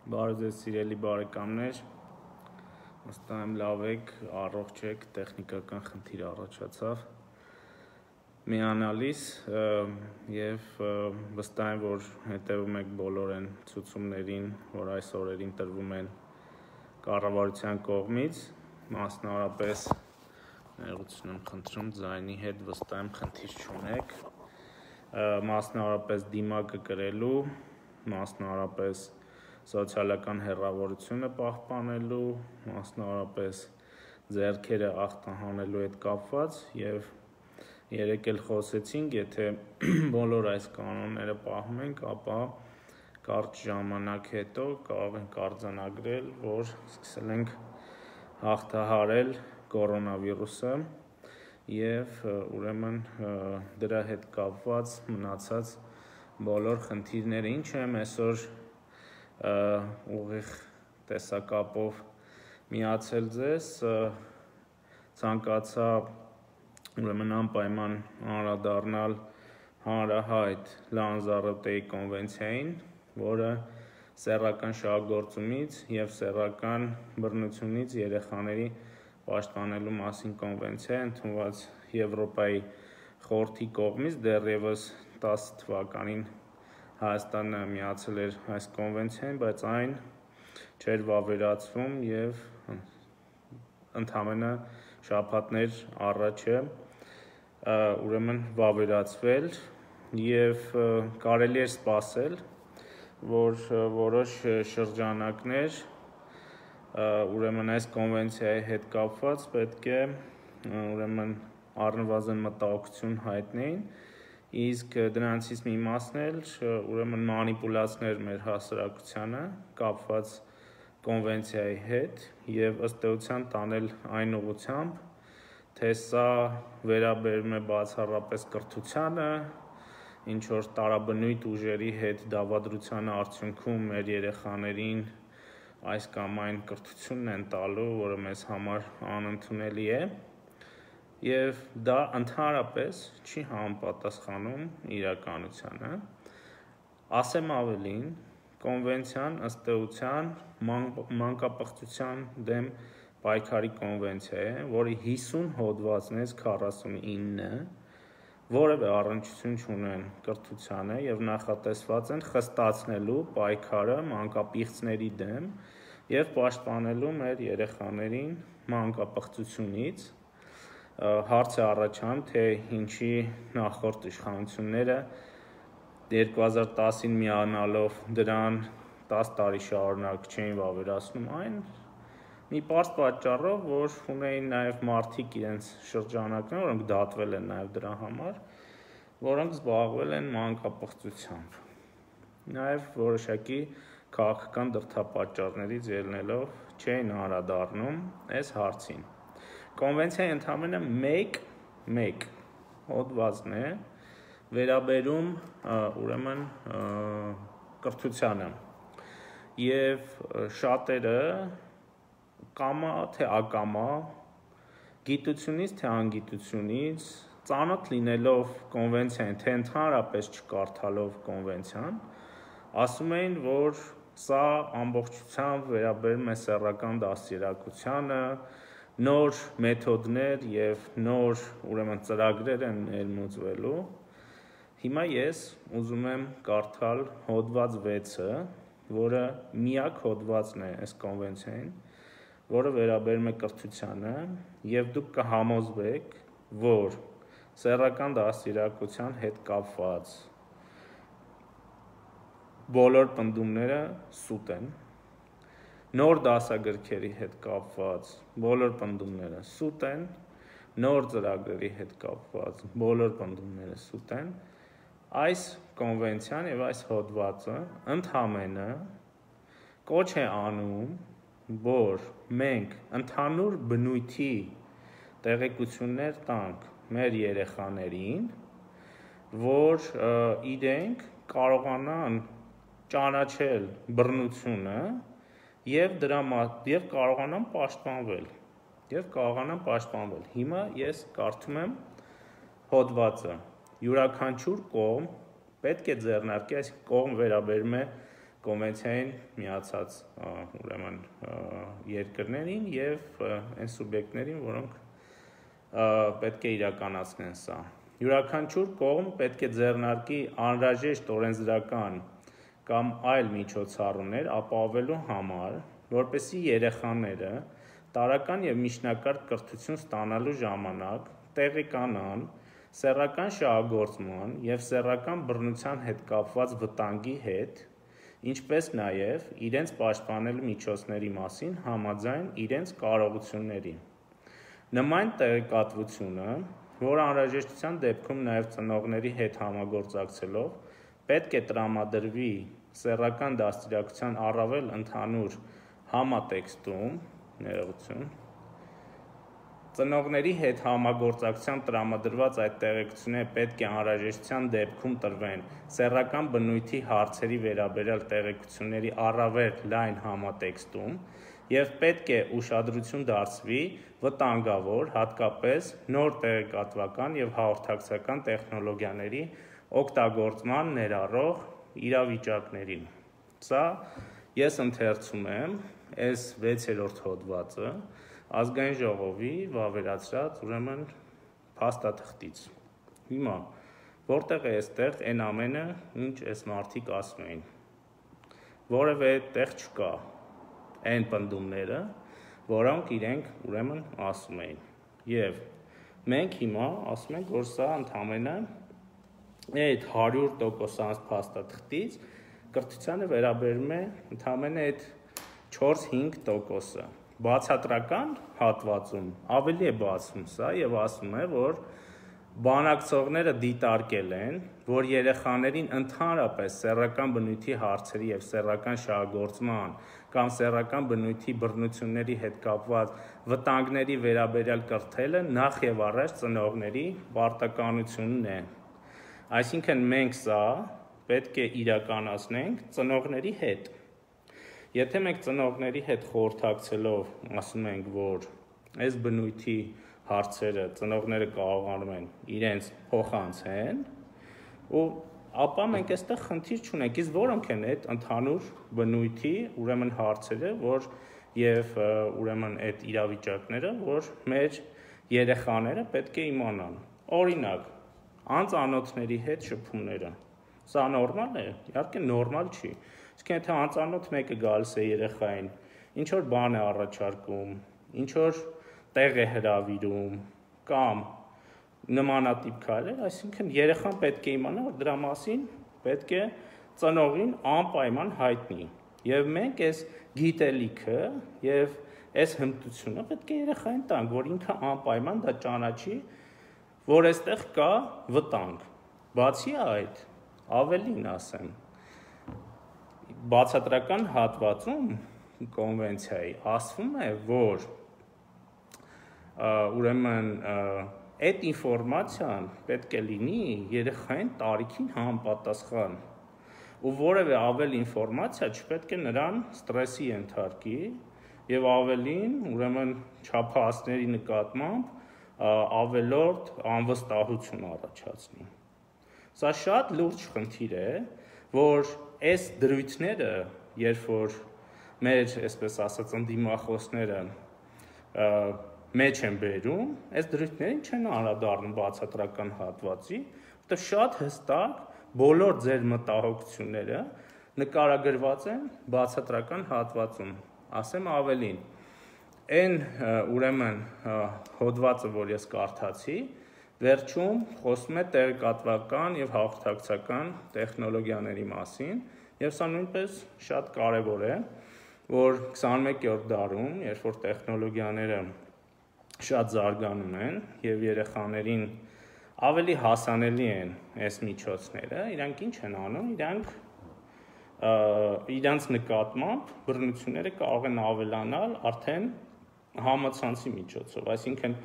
Բարև ձեզ սիրելի բարեկամներ, վստահ եմ լավ եք, առողջ եք, տեխնիկական խնդիր առաջացավ միանալիս եւ վստահ եմ, որ հետևում եք բոլոր այն ցուցումներին, որ այս օրերին տրվում են կառավարության կողմից, մասնավորապես ներողություն եմ խնդրում, ձայնի հետ վստահ եմ խնդիր չունեք, մասնավորապես դիմակը կրելու, մասնավորապես սոցիալական հեռավորությունը պահպանելու, մասնավորապես ձեռքերը ախտահանելու հետ կապված եւ երեք էլ խոսեցինք, եթե բոլոր այս կանոնները պահում ենք, ապա կարճ ժամանակ հետո կարող ենք արձանագրել, որ սկսել ենք հաղթահարել կորոնավիրուսը եւ ուրեմն դրա հետ կապված մնացած բոլոր խնդիրները, ինչ եմ այսօր ուղիղ տեսակապով միացել ձեզ, ցանկացա ուրեմն անպայման անդրադառնալ հանրահայտ Լանզարոտեի կոնվենցիային, որը սեռական շահագործումից եւ սեռական բռնությունից երեխաների պաշտպանելու մասին կոնվենցիա է ընդունված Եվրոպայի խորհրդի կողմից դեռևս 10 թվականին Հայաստանը միացել էր այս կոնվենցիային, բայց այն չէր վավերացվում եւ ընդամենը շաբաթներ առաջ է ուրեմն վավերացվել եւ կարելի է սպասել, որ որոշ շրջանակներ ուրեմն այս կոնվենցիայի հետ կապված պետք է ուրեմն առնվազն մտահոգություն հայտնեին, իսկ դրանցից մի մասն էլ ուրեմն մանիպուլացներ մեր հասարակությանը կապված կոնվենցիայի հետ եւ ըստ էության տանել այն ուղղությամբ, թե սա վերաբերում է բացառապես կրթությանը, ինչ որ տարաբնույթ ուժերի հետ դավադրության արդյունքում մեր երեխաներին այս կամ այն կրթությունն են տալու, որը մեզ համար անընդունելի է, եւ դա ընդհանրապես չի համապատասխանում իրականությանը, ասեմ ավելին, կոնվենցիան ըստ էության մանկապղծության դեմ պայքարի կոնվենցիա է, որի 50 հոդվածներից 49-ը որևէ առնչություն չունեն կրթությանը եւ նախատեսված են խստացնելու պայքարը մանկապիղծների դեմ եւ պաշտպանելու մեր երեխաներին մանկապղծությունից, հարց է առաջանում, թե ինչի նախորդ իշխանությունները 2010-ին միանալով դրան 10 տարի շարունակ չէին վավերացնում այն մի պարզ պատճառով, որ ունեին նաև մարդիկ իրենց շրջանակներում, որոնք դատվել են նաև դրա համար, որոնք զբաղվել են մանկապղծությամբ, նաև որոշակի քաղաքական դրդապատճառներից ելնելով չէին անդրադառնում այս հարցին։ Կոնվենցիայի ընդամենը մեկ հոդվածն է վերաբերում ուրեմն կրթությանը եւ շատերը կամա թե ակամա, գիտությունից թե անգիտությունից, ծանոթ լինելով կոնվենցիային, թե ընդհանրապես չկարդալով կոնվենցիան, ասում էին, որ սա ամբողջությամբ վերաբերում է սեռական դաստիարակությանը, նոր մեթոդներ եւ նոր ուրեմն ծրագրեր են ներմուծվելու։ Հիմա ես ուզում եմ կարդալ հոդված 6-ը, որը միակ հոդվածն է այս կոնվենցիային, որը վերաբերում է կրթությանը, եւ դուք կհամոզվեք, որ սեռական դաստիարակության հետ կապված բոլոր պնդումները սուտ են, նոր դասագրքերի հետ կապված բոլոր պնդումները սուտ են, նոր ծրագրերի հետ կապված բոլոր պնդումները սուտ են, այս կոնվենցիան եւ այս հոդվածը ընդհանրապես կոչ է անում, որ մենք ընդհանուր բնույթի տեղեկություններ տանք մեր երեխաներին, որ իրենք կարողանան ճանաչել բռնությունը եւ կարողանան պաշտպանվել։ Հիմա ես կարդում եմ հոդվածը։ Յուրաքանչյուր կողմ պետք է ձեռնարկի, այսինքն կողմ վերաբերում է կոնվենցիային միացած ուրեմն երկրներին եւ այն սուբյեկտներին, որոնք պետք է իրականացնեն սա։ Յուրաքանչյուր կողմ պետք է ձեռնարկի անհրաժեշտ օրենսդրական կամ այլ միջոցառումներ ապահովելու համար, որպեսզի երեխաները տարրական եւ միջնակարգ կրթություն ստանալու ժամանակ տեղեկանան սեռական շահագործման եւ սեռական բռնության հետ կապված վտանգի հետ, ինչպես նաեւ իրենց պաշտպանելու միջոցների մասին համաձայն իրենց կարողությունների։ Նման տեղեկատվությունը, որ անհրաժեշտության դեպքում նաեւ ծնողների հետ համագործակցելով պետք է տրամադրվի սեռական դաստիարակության առավել ընդհանուր համատեքստում, ներողություն, ծնողների հետ համագործակցությամբ տրամադրված այդ տեղեկությունները պետք է անհրաժեշտության դեպքում տրվեն սեռական բնույթի հարցերի վերաբերյալ տեղեկությունների առավել լայն համատեքստում եւ պետք է ուշադրություն դարձվի վտանգավոր, հատկապես նոր տեղեկատվական եւ հաղորդակցական տեխնոլոգիաների օգտագործման ներառող իրավիճակներին։ Սա ես ընթերցում եմ այս 6-րդ հոդվածը Ազգային ժողովի վավերացրած ուրեմն փաստաթղթից։ Հիմա որտեղ է այստեղ այն ամենը, ինչ այս մարդիկ ասում էին։ Որևէ տեղ չկա այն պնդումները, որոնք իրենք ուրեմն ասում էին։ Եվ մենք հիմա ասում ենք, որ սա ընդհանրապես այդ 100% փաստաթղթից կրթությանը վերաբերում է ընդհանրապես այդ 4-5%-ը։ Բացատրական հատվածում ավելի է բացում սա եւ ասում է, որ բանակցողները դիտարկել են, որ երեխաներին ընդհանրապես սեռական բնույթի հարցերի եւ սեռական շահագործման կամ սեռական բնույթի բռնությունների հետ կապված վտանգների վերաբերյալ կրթելը նախ եւ առաջ ծնողների պարտականությունն է։ Այսինքն մենք սա պետք է իրականացնենք ծնողների հետ։ Եթե մենք ծնողների հետ խորհրդակցելով ասում ենք, որ այս բնույթի հարցերը ծնողները կարողանում են իրենց փոխանցեն, ապա մենք այստեղ խնդիր չունենք, իսկ որոնք են այդ ընդհանուր բնույթի ուրեմն հարցերը, որ եւ ուրեմն այդ իրավիճակները, որ մեր երեխաները պետք է իմանան։ Օրինակ, անծանոթների հետ շփումները։ Սա նորմալ է, իհարկե նորմալ չի։ Իսկ եթե անծանոթ մեկը գալիս է երեխային, ինչ որ բան է առաջարկում, ինչ որ տեղ է հրավիրում կամ նմանատիպ քայլեր, այսինքն երեխան պետք է իմանա, որ դրա մասին պետք է ծնողին անպայման հայտնի։ Եվ մենք այս գիտելիքը եւ այս հմտությունը պետք է երեխային տանք, որ ինքը անպայման դա ճանաչի, որ այստեղ կա վտանգ։ Բացի այդ, ավելին ասեմ, բացատրական հատվածում կոնվենցիայի ասվում է, որ ուրեմն այդ ինֆորմացիան պետք է լինի երեխային տարիքին համապատասխան ու որևէ ավել ինֆորմացիա չպետք է նրան ստրեսի ենթարկի եւ ավելին ուրեմն չափահասների նկատմամբ ավելորդ անվստահություն առաջացնի։ Սա շատ լուրջ խնդիր է, որ այս դրույթները, երբ որ մեր, այսպես ասած, ընդդիմախոսները մեջ են բերում, այս դրույթներին չեն անդրադառնում բացատրական հատվածի, որտեղ շատ հստակ բոլոր ձեր մտահոգությունները նկարագրված են բացատրական հատվածում։ Ասեմ ավելին, այն ուրեմն հոդվածը, որ ես կարդացի, վերջում խոսում է տեղեկատվական եւ հաղորդակցական տեխնոլոգիաների մասին, եւ սա նույնպես շատ կարեւոր է, որ 21-րդ դարում, երբ որ տեխնոլոգիաները շատ զարգանում են եւ երեխաներին ավելի հասանելի են այս միջոցները, իրանք ինչ են անում, իրանք նկատմամբ բռնությունները կարող են ավելանալ արդեն համացանցի միջոցով, այսինքն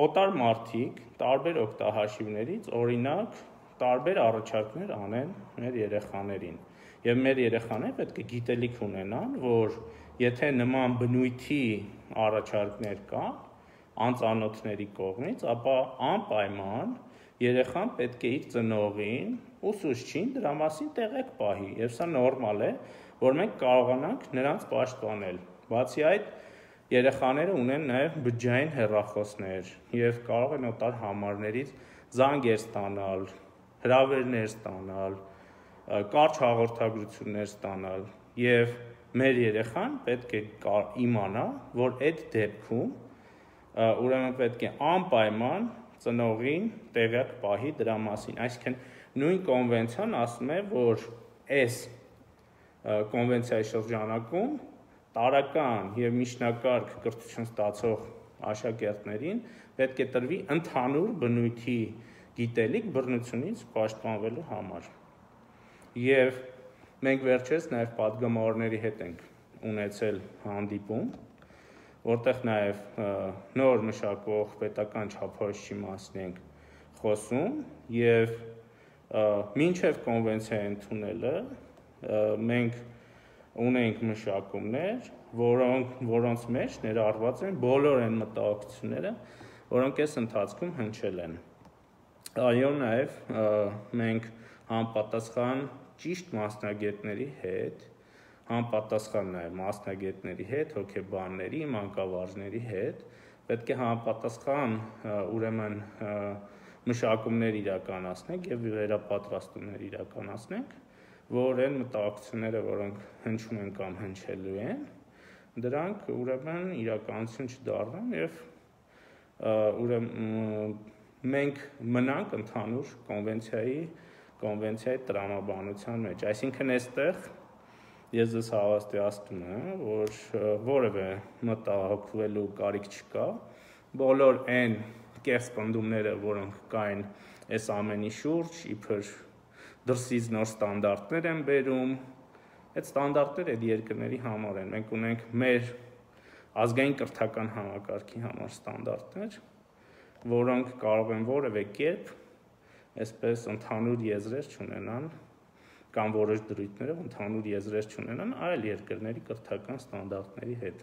օտար մարդիկ տարբեր օգտահաշիվներից օրինակ տարբեր առաջարկներ անեն մեր երեխաներին եւ մեր երեխաները պետք է գիտելիք ունենան, որ եթե նման բնույթի առաջարկներ կան անծանոթների կողմից, ապա անպայման երեխան պետք է իր ծնողին, ուսուցչին դրա մասին տեղեկ պահի, եւ սա նորմալ է, որ մենք կարողանանք նրանց պաշտպանել։ Բացի այդ, երեխաները ունեն նաեւ բջջային հեռախոսներ եւ կարող են օտար համարներից զանգեր ստանալ, հրավերներ ստանալ, կարճ հաղորդագրություններ ստանալ եւ մեր երեխան պետք է իմանա, որ այդ դեպքում ուրեմն պետք է անպայման ծնողին տեղյակ պահի դրա մասին, այսինքն նույն կոնվենցիան ասում է, որ այս կոնվենցիայի շրջանակում տարրական եւ միջնակարգ կրթություն ստացող աշակերտներին պետք է տրվի ընդհանուր բնույթի գիտելիք բռնությունից պաշտպանվելու համար։ Եվ մենք վերջերս նաեւ պատգամավորների հետ ենք ունեցել հանդիպում, որտեղ նաև նոր մշակող պետական չափորոշիչի մասին ենք խոսում եւ մինչեւ կոնվենցիայի ընդունելը մենք ունենք մշակումներ, որոնց մեջ ներառված են բոլոր այն մտահոգությունները, որոնք այս ընթացքում հնչել են։ Այո, նաև մենք համապատասխան ճիշտ մասնագետների հետ համապատասխան նաև մասնագետների հետ, հոգեբանների, մանկավարժների հետ պետք է համապատասխան ուրեմն մշակումներ իրականացնենք եւ վերապատրաստումներ իրականացնենք, որ այն մտահոգությունները, որոնք հնչում են կամ հնչելու են, դրանք ուրեմն իրականություն չդառնան եւ ուրեմն մենք մնանք ընդհանուր կոնվենցիայի տրամաբանության մեջ, այսինքն այստեղ ես ձեզ հավաստիացնում եմ, որ որևէ մտահոգվելու կարիք չկա, բոլոր այն կեղծ պնդումները, որոնք կային այս ամենի շուրջ, իբր դրսից նոր ստանդարտներ են բերում, այդ ստանդարտները այդ երկրների համար են, մենք ունենք մեր ազգային կրթական համակարգի համար ստանդարտներ, որոնք կարող են որևէ կերպ այսպես ընդհանուր եզրեր չունենան կամ որոշ դրույթներով ընդհանուր եզրեր չունենան այլ երկրների կրթական ստանդարտների հետ։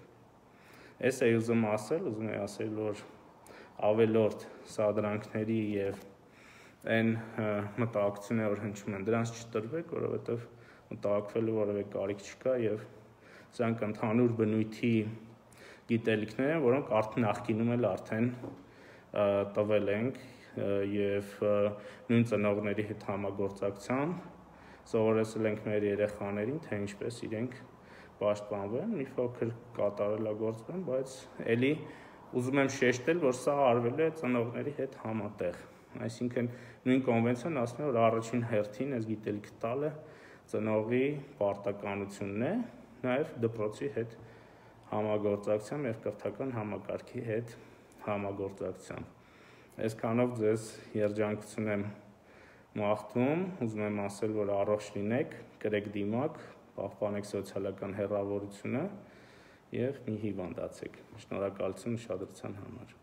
Այս է ուզում ասել, որ ավելորդ սադրանքների եւ այն մտահոգությունները, որ հնչում են, դրանց չտրվեք, որովհետեւ մտահոգվելու որևէ կարիք չկա եւ սրանք ընդհանուր բնույթի գիտելիքներ են, որոնք նախկինում էլ արդեն տվել ենք եւ նույն ծնողների հետ համագործակցությամբ սովորեցրել ենք մեր երեխաներին, թե ինչպես իրենք պաշտպանվեն, մի փոքր կատարելագործվեն, բայց ելի ուզում եմ շեշտել, որ սա արվել է ծնողների հետ համատեղ։ Այսինքն նույն կոնվենցիան ասում է, որ առաջին հերթին այս գիտելիքը տալը ծնողի պարտականությունն է, նաև դպրոցի հետ համագործակցությամբ եւ կրթական համակարգի հետ համագործակցությամբ։ Այսքանով ձեզ երջանկություն եմ մաղթում, ուզում եմ ասել, որ առողջ լինեք, կրեք դիմակ, պահպանեք սոցիալական հեռավորությունը եւ մի հիվանդացեք։ Շնորհակալություն ուշադրության համար։